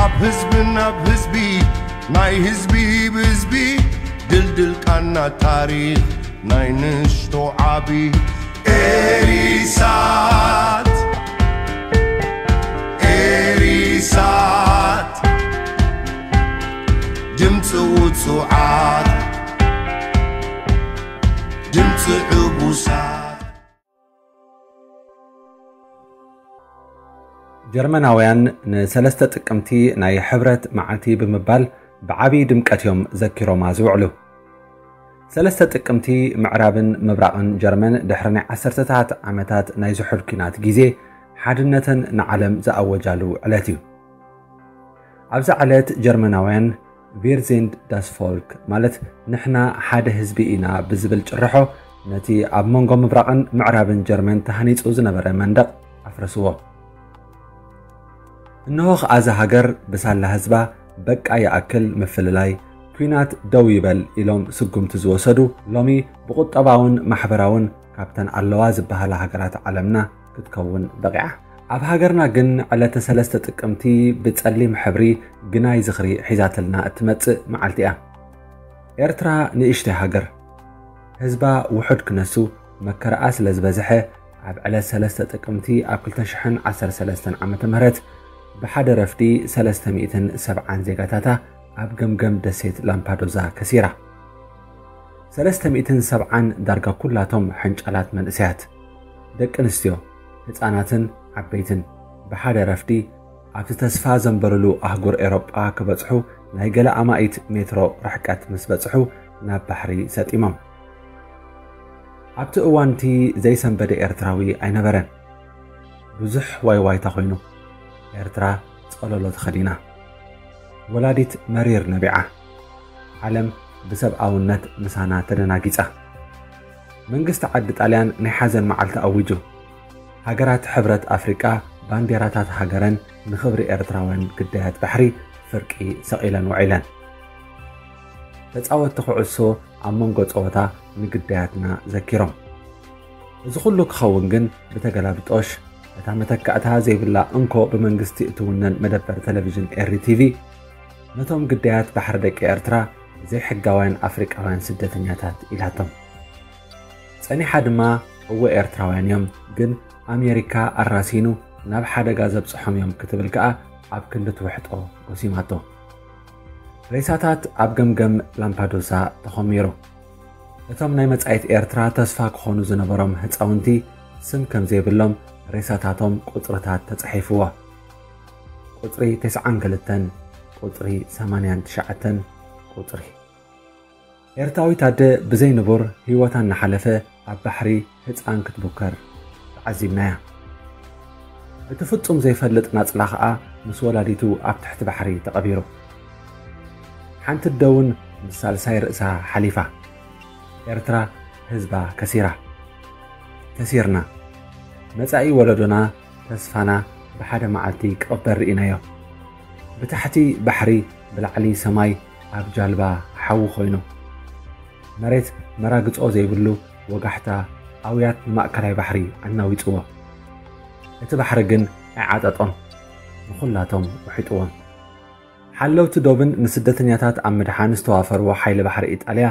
ኣብ ህዝብን ኣብ ህዝቢ ናይ ህዝቢ ብህዝቢ ድልድል ቃና ታሪኽ ናይ ንሽቶ ዓቢ ኤሪሳት ኤሪሳት ድምፂ ውፁዓት ድምፂ ዕቡሳት። ጀርመናውያን ንሰለስተ ጥቅምቲ ናይ ሕብረት መዓልቲ ብምባል ብዓቢ ድምቀት እዮም ዘኪሮማ ዝውዕሉ። ሰለስተ ጥቅምቲ ምዕራብን ምብራቕን ጀርመን ድሕሪ ናይ ዓሰርተታት ዓመታት ናይ ዝሑል ኲናት ግዜ ሓድነተን ንዓለም ዝኣወጃሉ ዕለት እዩ። ኣብዛ ዕለት ጀርመናውያን ቪር ዚንድ ዳስ ፎልክ ማለት ንሕና ሓደ ህዝቢ ኢና ብዝብል ጭርሖ ነቲ ኣብ መንጎ ምብራቕን ምዕራብን ጀርመን ተሃኒጹ ዝነበረ መንደቕ ኣፍረስዎ። እንሆ ኸኣ እዛ ሃገር ብሳላ ህዝባ በቃ ይኣክል ምፍልላይ፣ ኲናት ደው ይበል ኢሎም ስጉምቲ ዝወሰዱ ሎሚ ብቁጠባውን ማሕበራውን ካብተን ኣለዋ ዝበሃላ ሃገራት ዓለምና ክትከውን በቒዓ። ኣብ ሃገርና ግን ዕለተ ሰለስተ ጥቅምቲ ብጸሊም ሕብሪ ግናይ ዝኽሪ ሒዛትልና እትመጽእ መዓልቲ እያ። ኤርትራ ንእሽተይ ሃገር ህዝባ ውሑድ ክነሱ መከራኣ ስለ ዝበዝሐ ኣብ ዕለት ሰለስተ ጥቅምቲ ኣብ ክልተ ሽሕን ዓሰርተ ሰለስተን ዓመተ ምህረት ብሓደ ረፍዲ ሰለስተ ሚእትን ሰብዓን ዜጋታታ ኣብ ገምገም ደሴት ላምፓዶዛ ከሲራ። ሰለስተ ሚእትን ሰብዓን ዳርጋ ኩላቶም ሕንጫላት መንእሰያት፣ ደቂ ኣንስትዮ፣ ህጻናትን ዓበይትን ብሓደ ረፍዲ ኣብቲ ተስፋ ዘንበሩሉ ኣህጉር ኤሮጳ ክበጽሑ ናይ ገለ ኣማኢት ሜትሮ ርሕቀት ምስ በጽሑ ናብ ባሕሪ ሰጢሞም። ኣብቲ እዋንቲ ዘይሰንበደ ኤርትራዊ ኣይነበረን። ብዙሕ ዋይዋይታ ኮይኑ ኤርትራ ጸለሎ ተኸዲና። ወላዲት መሪር ነቢዓ። ዓለም ብሰብኣውነት ምሳና ተደናጊጻ። መንግስቲ ዓዲ ጣልያን ናይ ሓዘን መዓልቲ ኣዊጁ። ሃገራት ሕብረት ኣፍሪቃ ባንዴራታት ሃገረን ንኽብሪ ኤርትራውያን ግዳያት ባሕሪ ፍርቂ ሰቒለን ውዒለን። ተጻወትቲ ኩዕሶ ኣብ መንጎ ጸወታ ንግዳያትና ዘኪሮም። እዚ ኩሉ ክኸውን ግን ብተገላብጦሽ እታ መተካእታ ዘይብላ እንኮ ብመንግስቲ እትውነን መደበር ቴሌቪዥን ኤሪ ቲቪ ነቶም ግዳያት ባሕሪ ደቂ ኤርትራ ዘይሕጋውያን ኣፍሪቃውያን ስደተኛታት ኢላቶም። ጸኒሓ ድማ እወ ኤርትራውያን እዮም ግን ኣሜሪካ ኣራሲኑ ናብ ሓደጋ ዘብጽሖም እዮም ክትብል ከኣ ኣብ ክንዲ ትውሕጦ ጎሲማቶ። ሬሳታት ኣብ ገምገም ላምፓዱሳ ተኾሚሩ። እቶም ናይ መጻኢት ኤርትራ ተስፋ ክኾኑ ዝነበሮም ህጻውንቲ ስም ከም ዘይብሎም ሬሳታቶም ቁጽርታት ተጻሒፍዎ። ቁጽሪ ተስዓን ክልተን፣ ቁጽሪ ሰማንያን ትሽዓተን፣ ቁጽሪ ኤርትራዊት ኣደ ብዘይ ንቡር ህይወታ እናሓለፈ ኣብ ባሕሪ ህጻን ክትቡከር ተዓዚብናያ። እቲ ፍጹም ዘይፈልጥ ናጽላ ኸኣ ምስ ወላዲቱ ኣብ ትሕቲ ባሕሪ ተቐቢሩ። ሓንቲ ኣደ እውን ምስ ሳልሳይ ርእሳ ሓሊፋ። ኤርትራ ህዝባ ከሲራ። ከሲርና። መጻኢ ወለዶና ተስፋና ብሓደ መዓልቲ ክቕበር ርኢናዮ። ብታሕቲ ባሕሪ ብላዕሊ ሰማይ ኣብ ጃልባ ሓዊ ኮይኑ። መሬት መራግጾ ዘይብሉ ወጋሕታ ኣውያት ንማእከላይ ባሕሪ ኣናዊጽዎ። እቲ ባሕሪ ግን ኣይዓጠጦን፣ ንኹላቶም ውሒጥዎም። ሓለውቲ ዶብን ንስደተኛታት ኣብ ምድሓን ዝተዋፈርዎ ሓይሊ ባሕሪ ኢጣልያ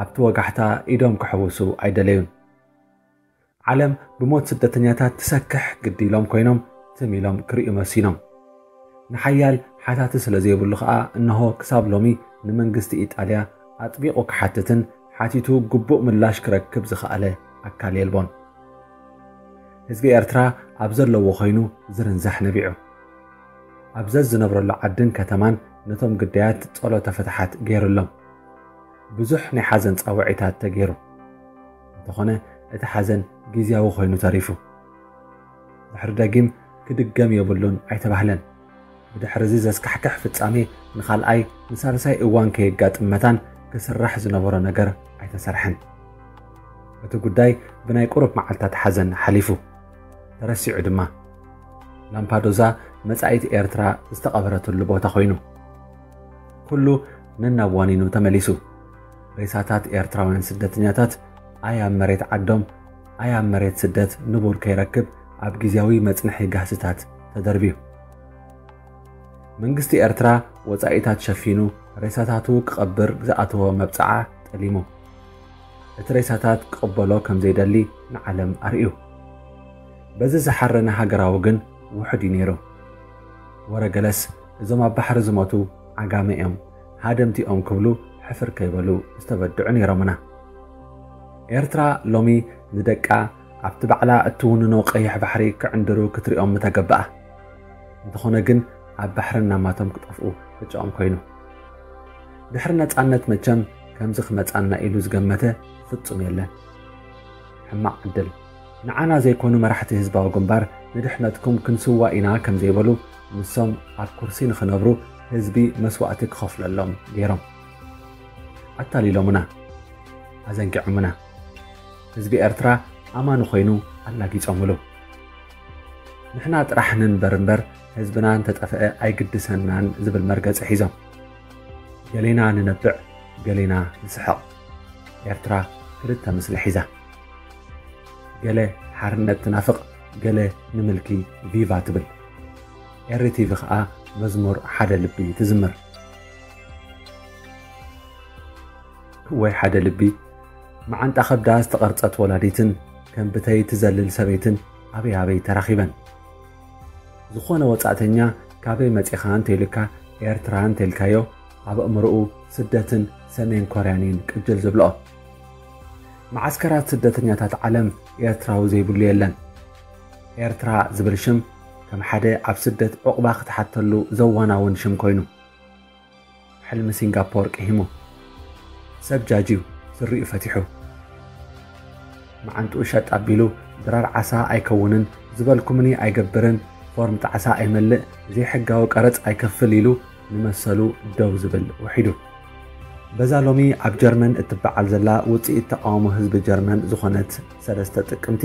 ኣብቲ ወጋሕታ ኢዶም ክሕውሱ ኣይደለዩን። ዓለም ብሞት ስደተኛታት ትሰክሕ ግዲ ኢሎም ኮይኖም ትም ኢሎም ክርእዩ መሲኖም። ንሓያል ሓታቲ ስለ ዘይብሉ ኸኣ እነሆ ክሳብ ሎሚ ንመንግስቲ ኢጣልያ ኣጥቢቑ ክሓትትን ሓቲቱ ግቡእ ምላሽ ክረክብ ዝኸኣለ ኣካል የልቦን። ህዝቢ ኤርትራ ኣብ ዘለዎ ኮይኑ ዝርንዛሕ ነቢዑ። ኣብ ዘዝነብረሉ ዓድን ከተማን ነቶም ግዳያት ጸሎተ ፍትሓት ገይሩሎም። ብዙሕ ናይ ሓዘን ጻውዒታት ተገይሩ። እንተኾነ እቲ ሓዘን ግዝያዊ ኮይኑ ተሪፉ። ድሕሪ ደጊም ክድገም የብሉን ኣይተባህለን። ብድሕሪ እዚ ዘስካሕክሕ ፍጻሜ ንኻልኣይ ንሳልሳይ እዋን ከየጋጥም መታን ክስራሕ ዝነበሮ ነገር ኣይተሰርሐን። እቲ ጉዳይ ብናይ ቁሩብ መዓልታት ሓዘን ሓሊፉ። ተረሲዑ ድማ። ላምፓዶዛ መጻኢት ኤርትራ ዝተቐበረትሉ ቦታ ኮይኑ። ኩሉ ነናብ ዋኒኑ ተመሊሱ። ሬሳታት ኤርትራውያን ስደተኛታት ኣይ ኣብ መሬት ዓዶም ኣይ ኣብ መሬት ስደት ንቡር ከይረክብ ኣብ ግዝያዊ መጽንሒ ጋህስታት ተደርብዩ። መንግስቲ ኤርትራ ወጻኢታት ሸፊኑ ሬሳታቱ ክቐብር ዝኣተወ መብጽዓ ጠሊሙ። እቲ ሬሳታት ክቕበሎ ከም ዘይደሊ ንዓለም ኣርእዩ። በዚ ዝሓረነ ሃገራዊ ግን ውሑድ እዩ ነይሩ። ወረ ገለስ እዞም ኣብ ባሕሪ ዝሞቱ ዓጋመ እዮም፣ ሃደምቲ እዮም ክብሉ ሕፍር ከይበሉ ዝተበድዑ ነይሮምና። ኤርትራ ሎሚ ንደቃ ኣብቲ ባዕላ እትውንኖ ቀይሕ ባሕሪ ክዕንድሩ ክትሪኦም ምተገብኣ። እንተኾነ ግን ኣብ ባሕሪ እናማቶም ክጠፍኡ ዕጫኦም ኮይኑ። ድሕሪ ነጻነት መቸም ከምዚ ክመጻና ኢሉ ዝገመተ ፍጹም የለን። ሕማቕ ዕድል። ንዓና ዘይኮኑ መራሕቲ ህዝባዊ ግንባር ንድሕነትኩም ክንስዋ ኢና ከም ዘይበሉ ንሶም ኣብ ኩርሲ ንኽነብሩ ህዝቢ መስዋእቲ ክኸፍለሎም ገይሮም። ኣታሊሎምና። ኣዘንጊዖምና። ህዝቢ ኤርትራ ኣማኒ ኮይኑ ኣላጊጾምሉ። ንሕና ጥራሕ ንንበር እምበር ህዝብና እንተጠፍአ ኣይግድሰናን ዝብል መርገጺ ሒዞም። ገሌና ንነብዕ፣ ገሌና ንስሕቕ። ኤርትራ ክልተ ምስሊ ሒዛ። ገለ ሓርነት ትናፍቕ፣ ገለ ንምልኪ ቪቫ ትብል። ኤሪ ቲቪ ኸኣ መዝሙር ሓደ ልቢ ትዝምር። ወይ ሓደ ልቢ፣ መዓንጣ ከብዳ ዝተቐርጸት ወላዲትን ከም ብተይ ትዘልል ሰበይትን ኣበይ ኣበይ ተራኺበን። ዝኾነ ወጻእተኛ ካበይ መጺኻ እንተኢሉካ ኤርትራ እንተኢልካዮ ኣብ ኣእምሮኡ ስደትን ሰሜን ኮርያን እየን ቅጅል ዝብልኦ። መዓስከራት ስደተኛታት ዓለም ኤርትራዊ ዘይብሉ የለን። ኤርትራ ዝብል ሽም ከም ሓደ ኣብ ስደት ዑቕባ ክትሓተሉ ዘዋናውን ሽም ኮይኑ። ሕልሚ ሲንጋፖር ቅሂሙ። ሰብ ጃጅዩ ስሪኡ ፈቲሑ። መዓንጥኡ ሸጥ ኣቢሉ ድራር ዓሳ ኣይከውንን፣ ዝበልኩምኒ ኣይገብርን፣ ፎርም ጣዕሳ ኣይመልእ፣ ዘይሕጋዊ ቀረጽ ኣይከፍል ኢሉ ንመሰሉ ደው ዝብል ውሒዱ። በዛ ሎሚ ኣብ ጀርመን እትበዓል ዘላ ውጽኢት ተቓውሞ ህዝቢ ጀርመን ዝኾነት ሰለስተ ጥቅምቲ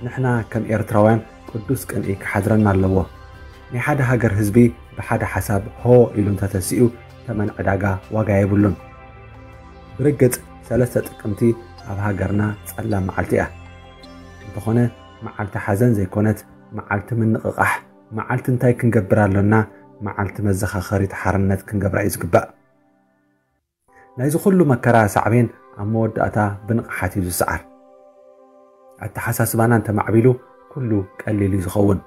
ንሕና ከም ኤርትራውያን ቅዱስ ቅንኢ ክሓድረና ኣለዎ። ናይ ሓደ ሃገር ህዝቢ ብሓደ ሓሳብ ሆ ኢሉ እንተተሲኡ ተመን ዕዳጋ ዋጋ የብሉን። ብርግጽ ሰለስተ ጥቅምቲ ኣብ ሃገርና ጸላም መዓልቲ እያ። እንተኾነ መዓልቲ ሓዘን ዘይኮነት፣ መዓልቲ ምንቕቓሕ፣ መዓልቲ እንታይ ክንገብር ኣሎና፣ መዓልቲ መዘኻኸሪት ሓርነት ክንገብራ እዩ ዝግባእ። ናይዚ ኩሉ መከራ ሳዕቤን ኣብ መወዳእታ ብንቕሓት እዩ ዝሰዓር። ኣተሓሳስባና እንተማዕቢሉ ኩሉ ቀሊል እዩ ዝኸውን።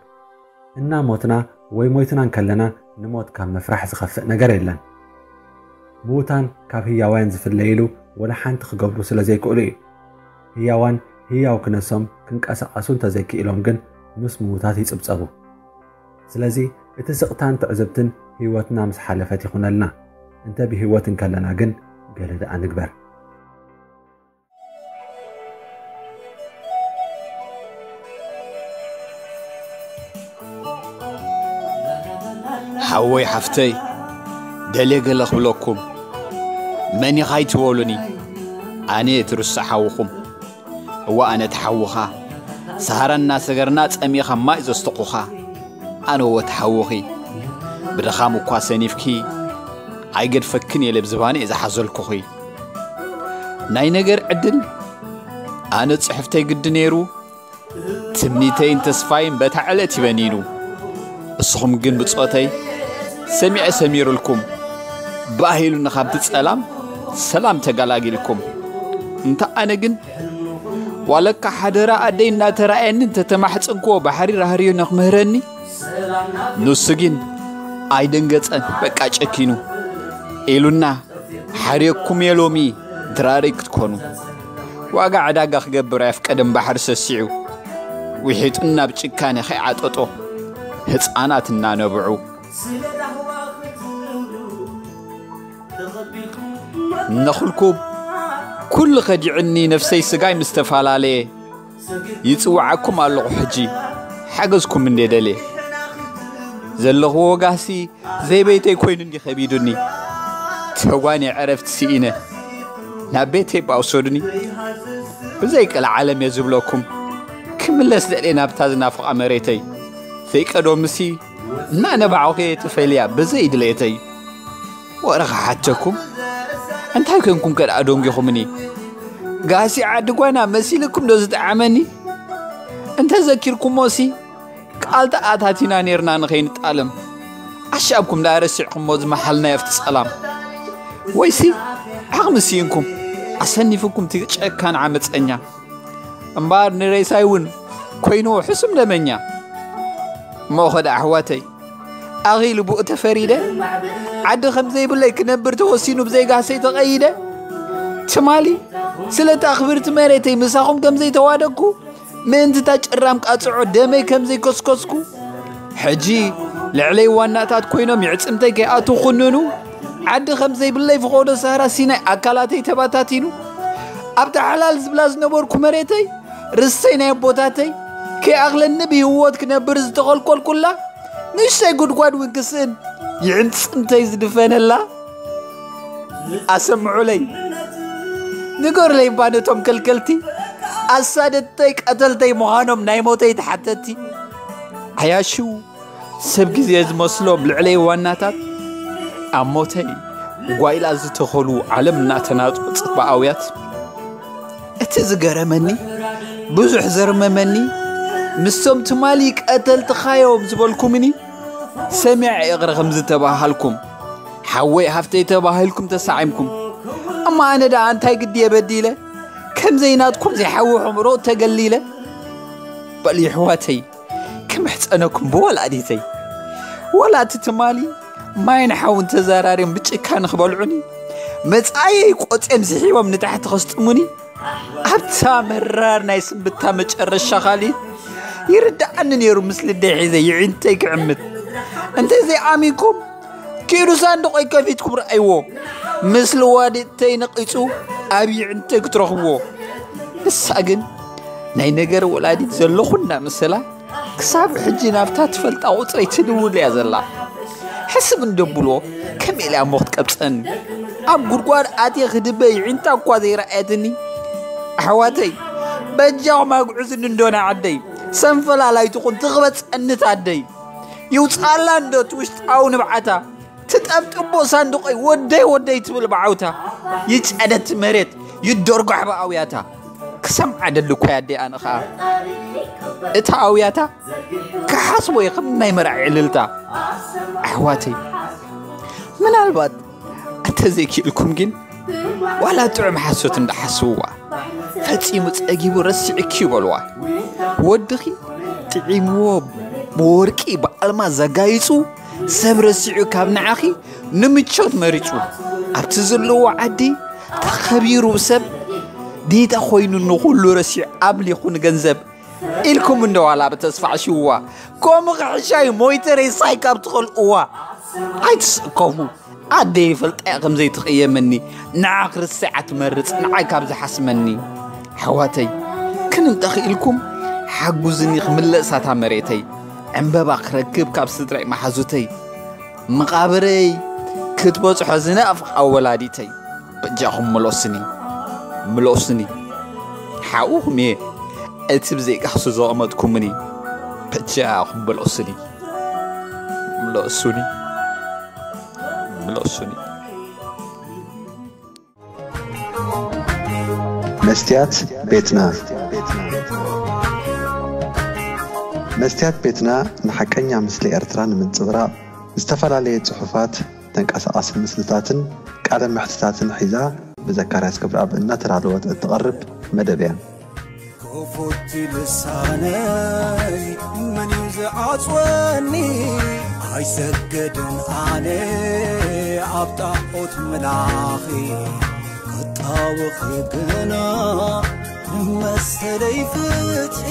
እናሞትና ወይ ሞይትና እንከለና ንሞት ካብ ምፍራሕ ዝኸፍእ ነገር የለን። ምዉታን ካብ ህያዋያን ዝፍለይሉ ወላ ሓንቲ ክገብሩ ስለ ዘይክእሉ እዩ። ህያዋን ህያው ክነሶም ክንቀሳቐሱ እንተዘይክኢሎም ግን ምስ ምዉታት ይጽብጸቡ። ስለዚ እቲ ስቕታን ትዕዝብትን ህይወትና ምስ ሓለፈት ይኹነልና። እንተ ብህይወት እንከለና ግን ገለ ደኣ ንግበር። ሓወይ ሓፍተይ፣ ደልየ ገለ ክብለኩም፣ መን ኢኻ ኣይትበሉኒ፣ ኣነ እቲ ርሱዕ ሓውኹም። እዋ ኣነ እቲ ሓውኻ፣ ሰሃራ እናሰገርና ጸሚእኻ ማይ ዘስተኹኻ፣ ኣነ እወ እቲ ሓውኺ። ብድኻም እኳ ሰኒፍኪ፣ ኣይገድፈክን እየ ለብዝባነ እየ ዝሓዘልኩኺ። ናይ ነገር ዕድል፣ ኣነ ጽሕፍተይ ግዲ ነይሩ፣ ትምኒተይን ተስፋይን በታ ዕለት እዩ በኒኑ። እስኹም ግን ብጾተይ ሰሚዐ ሰሚሩልኩም፣ ባህ ኢሉኒ ካብቲ ጸላም ሰላም ተገላጊልኩም። እንተ ኣነ ግን ዋለካ ሓደራ ኣደይ እናተራእየኒ እንተተማሕጸንክዎ ባሕሪ ራህርዩ ንኽምህረኒ፣ ንሱ ግን ኣይደንገጸን፣ በቃ ጨኪኑ ኢሉና። ሓርየኩም እየ ሎሚ ድራረይ ክትኮኑ። ዋጋ ዕዳጋ ክገብር ኣየፍቀደን ባሕሪ ሰሲዑ፣ ውሒጡን ናብ ጭካነ ከይዓጠጦ ህፃናት እናነብዑ። ነኹልኩም ኩሉ ከዲዑኒ ነፍሰይ ስጋይ ምስ ተፈላለየ ይፅውዓኩም ኣለኹ ሕጂ ሓገዝኩም እንዴ ደልየ ዘለኹዎ ጋሲ ዘይበይተይ ኮይኑ እንዲ ከቢዱኒ ተጓኒ ዕረፍቲ ስኢነ ናብ ቤተይ ባውሰዱኒ ብዘይ ቀልዓለም እየ ዝብለኩም ክምለስ ደልየ ናብታ ዝናፍቓ መሬተይ ዘይቀደምሲ እናነባዕኹ እየ ተፈልያ ብዘይ ድሌተይ ወረ ክሓተኩም እንታይ ኮንኩም ከደኣ ደንጊኹምኒ ጋሲ ዓዲ ጓና መሲልኩም ዶ ዝጠዓመኒ እንተዘኪርኩሞሲ ቃል ተኣታቲና ኔርና ንኸይንጣለም ኣሻብኩም ደኣ ረሲዕኩሞ ዝመሓልናዮ ኣብቲ ጸላም? ወይሲ ዓቕሚ ስኢንኩም ኣሰኒፍኩም እቲ ጨካን ዓመጸኛ? እምበኣር ንሬሳይ እውን ኮይንዎ ሕሱም ደመኛ። እሞ ኸደ ኣሕዋተይ፣ ኣኺሉ ብኡ ተፈሪደ፣ ዓዲ ከም ዘይብለይ ክነብር ተወሲኑ ብዘይጋሰይ ተቐይደ። ትማሊ ስለታ ክብርቲ መሬተይ ምሳኹም ከም ዘይተዋደግኩ፣ ምእንቲ እታ ጭራም ቃጽዖ ደመይ ከም ዘይከስከስኩ፣ ሕጂ ልዕለይ ዋናታት ኮይኖም ይዕጽምተይ ከይኣትዉ ኩንኑ። ዓዲ ከም ዘይብለይ ፍቖዶ ሳህራ ሲናይ ኣካላተይ ተባታቲኑ። ኣብታ ሓላል ዝብላ ዝነበርኩ መሬተይ፣ ርሰይ ናይ ኣቦታተይ፣ ከይኣኽለኒ ብህይወት ክነብር ዝተኸልኮልኩላ ንእሽተይ ጉድጓድ እውን ክስእን ይዕጽምተይ ዝድፈነላ። ኣሰምዑለይ፣ ንገሩለይ እባ ነቶም ከልከልቲ፣ ኣሳደድተይ ቀተልተይ ምዃኖም ናይ ሞተይ ተሓተቲ። ዓያሹ ሰብ ግዜ ዝመስሎም ልዕለይ ዋናታት፣ ኣብ ሞተይ ጓይላ ዝተኸሉ ዓለም እናተናጡ ጽባኣውያት። እቲ ዝገረመኒ፣ ብዙሕ ዘርመመኒ፣ ምስቶም ትማሊ ቀተልትኻዮም ዝበልኩምኒ ሰሚዐ ይቕረ ከም ዝተባሃልኩም፣ ሓወይ ሃፍተይ ተባሂልኩም ተሳዒምኩም። እማ ኣነ ደኣ እንታይ ግዲ የበዲለ? ከም ዘይናትኩም ዘይሓዊ ሕምሮ ተገሊለ። በሉ ይሕዋተይ፣ ክምሕጸነኩም ብወላዲተይ። ወላ እቲ ትማሊ ማይን ሓውን ተዘራርዮም ብጭካን ክበልዑኒ፣ መጻየይ ቆጽዮም ስሒቦም ንታሕቲ ከስጥሙኒ፣ ኣብታ መራር ናይ ስንብታ መጨረሻ ካሊት ይርድኣኒ ነይሩ። ምስ ልደይ ሒዘ ይዒንተይ ክዕምት። እንተዘይኣሚንኩም፣ ኪዱ ሳንዱቐይ ከፊትኩም ረኣይዎ። ምስ ልዋዲተይ ነቒጹ ኣብ ይዕንተይ ክትረኽብዎ። ንሳ ግን ናይ ነገር ወላዲት ዘለኹ እናመሰላ፣ ክሳብ ሕጂ ናብታ ትፈልጣ ቁጽረይ ትድውል እያ ዘላ። ሕስብ እንደብሎ፣ ከመይ ኢላ እሞ ክትቀብጸኒ? ኣብ ጉድጓድ ኣትየ ክድበ ይዒንታ እኳ ዘይረኣየትኒ። ኣሕዋተይ፣ በጃኹም ኣግዕዙኒ እንዶ ንዓደይ። ሰንፈላላይትኹን ትቕበጸኒ ታደይ። ይውጻላ እንዶ እቲ ውሽጣዊ ንብዓታ። ትጠብጥቦ ሳንዱቐይ ወደይ ወደይ ትብል ብዓውታ። ይጨደት መሬት፣ ይደርጓሕ ብኣውያታ። ክሰምዓ ደሊ እኮ ኣደይ ኣነ ኸኣ። እታ ኣውያታ ክሓስቦ እየ ከም ናይ መርዓ ዕልልታ። ኣሕዋተይ፣ ምናልባት እንተዘይክኢልኩም ግን ዋላ ጥዑም ሓሶት እንዳሓስብዋ፣ ፈጺሙ ጸጊቡ ረሲዕኪ እዩ በልዋ። ወድኺ ጥዒምዎ ብወርቂ ብኣልማዝ ዘጋይጹ፣ ሰብ ረሲዑ ካብ ንዓኺ ንምቾት መሪጹ። ኣብቲ ዘለዎ ዓዲ ተኸቢሩ ሰብ፣ ዲታ ኮይኑ ንኹሉ ረሲዑ ኣምሊኹ ንገንዘብ ኢልኩም እንዶ ዋላ ብተስፋ ኣሽውዋ። ከምኡ ክሕሻይ ሞይተ ሬሳይ ካብ ትኸልእዋ። ኣይትስከፉ። ኣደይ ይፈልጣ እያ ከም ዘይትቕየመኒ። ንዓ ክርስዓ ትመርጽ፣ ንዓይ ካብ ዝሓስመኒ። ኣሕዋተይ፣ ክንንጠኺ ኢልኩም ሓጉዝኒ ክምለስ ኣታ መሬተይ። ዕምበባ ክረክብ ካብ ስድራይ መሓዙተይ። መቓብረይ ክትበጽሖ ዝናፍቓ ወላዲተይ። በጃኹም ምለሱኒ፣ ምለሱኒ። ሓውኹም እየ፣ እቲ ብዘይካሕሱ ዘቐመጥኩምኒ። በጃኹም ምለሱኒ፣ ምለሱኒ፣ ምለሱኒ። መስትያት ቤትና። መስትያት ቤትና ንሓቀኛ ምስሊ ኤርትራ ንምንጽብራቕ ዝተፈላለየ ጽሑፋት፣ ተንቀሳቓሲ ምስልታትን ቃለ መሕትታትን ሒዛ ብዘካርያስ ገብረኣብ እናተዳለወት እትቐርብ መደብ እያ። ክፉት ልሳነይ መን እዩ ዝዓጽወኒ? ኣይሰግድን ኣነ ኣብ ጣዖት ምላኺ፣ ክጣወኺ ግና መሰለይ ፍትሒ።